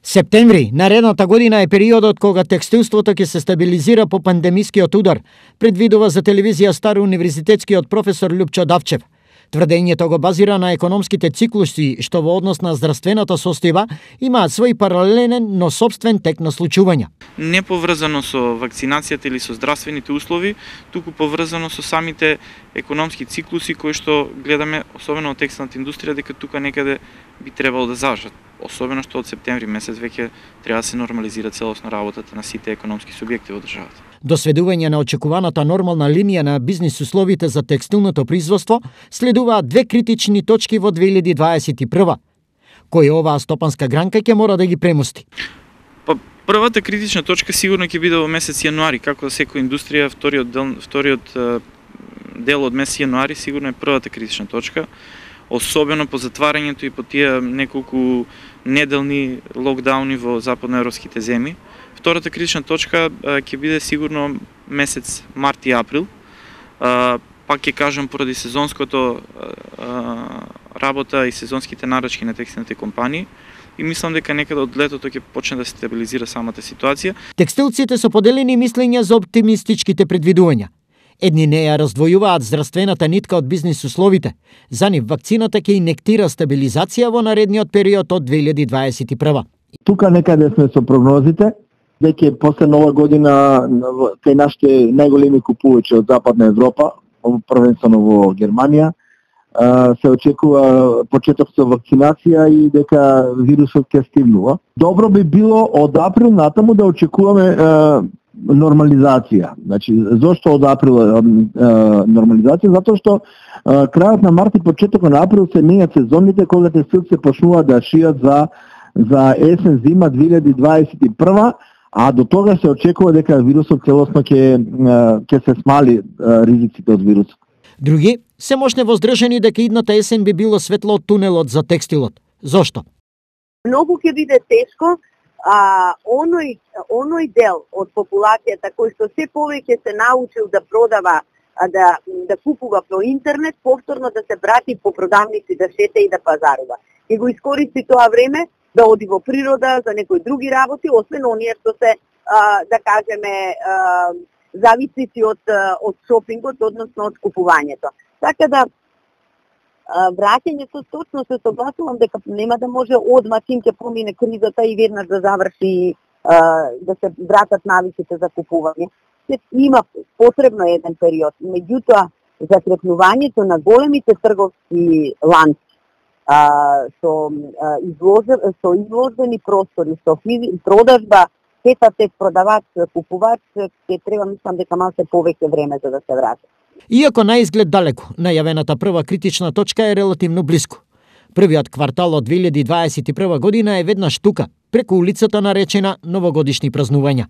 Септември, наредната година е периодот кога текстилството ќе се стабилизира по пандемискиот удар, предвидува за телевизија Стар универзитетскиот професор Љупчо Давчев. Тврдењето го базира на економските циклуси, што во однос на здравствената состојба имаат свој паралелен, но сопствен тек на случувања. Не поврзано со вакцинацијата или со здравствените услови, туку поврзано со самите економски циклуси кои што гледаме, особено од текстилната индустрија, дека тука некаде би требало да зажат. Особено што од септември месец веќе треба да се нормализира целосно работата на сите економски субјекти во државата. До сведување на очекуваната нормална линија на бизнис условите за текстилното производство, следуваат две критични точки во 2021. Кој оваа стопанска гранка ќе мора да ги премости? Првата критична точка сигурно ќе биде во месец јануари, како за секоја индустрија, вториот дел од месец јануари сигурно е првата критична точка, особено по затварањето и по тие неколку неделни локдауни во западноевропските земји. Втората критична точка ќе биде сигурно месец март и април. Пак ќе кажам поради сезонското работа и сезонските нарачки на текстилните компании. И мислам дека некаде од летото ќе почне да се стабилизира самата ситуација. Текстилците со поделени мислења за оптимистичките предвидувања. Едни не ја раздвојуваат здравствената нитка од бизнис условите. За нив вакцината ќе инектира стабилизација во наредниот период од 2021. Тука некаде сме со прогнозите, дека после нова година кај нашите најголеми купувачи од Западна Европа, првенствено во Германија, се очекува почеток со вакцинација и дека вирусот ќе стигнува. Добро би било од април натаму да очекуваме нормализација. Значи, зошто од април нормализација? Затоа што крајот на март и почетокот на април се менјат сезоните кога текстилците почнуваат да шијат за есен зима 2021, а до тога се очекува дека вирусот целосно ќе се смали ризиците од вирусот. Други се можне воздржани дека идната есен би било светло од тунелот за текстилот. Зошто? Многу ќе биде тешко, оној дел од популацијата кој што се повеќе се научил да продава, да купува по интернет, повторно да се брати по продавници да шета и да пазарува. И го искористи тоа време да оди во природа за некои други работи, освен оние што се, да кажеме, зависници од шопингот, односно од купувањето. Така да, враќањето точно се согласувам дека нема да може одма чим ќе помине кризата и веднаш да заврши, да се вратат навиците за купување. Има потребно еден период. Меѓутоа, закрепнувањето на големите трговски ланци со изложени простори, со продажба, тет продавач, купувач, ќе треба, мислам дека малку повеќе време за да се врати. Иако на изглед далеко, најавената прва критична точка е релативно блиску. Првиот квартал од 2021 година е веднаш тука, преку улицата наречена новогодишни празнувања.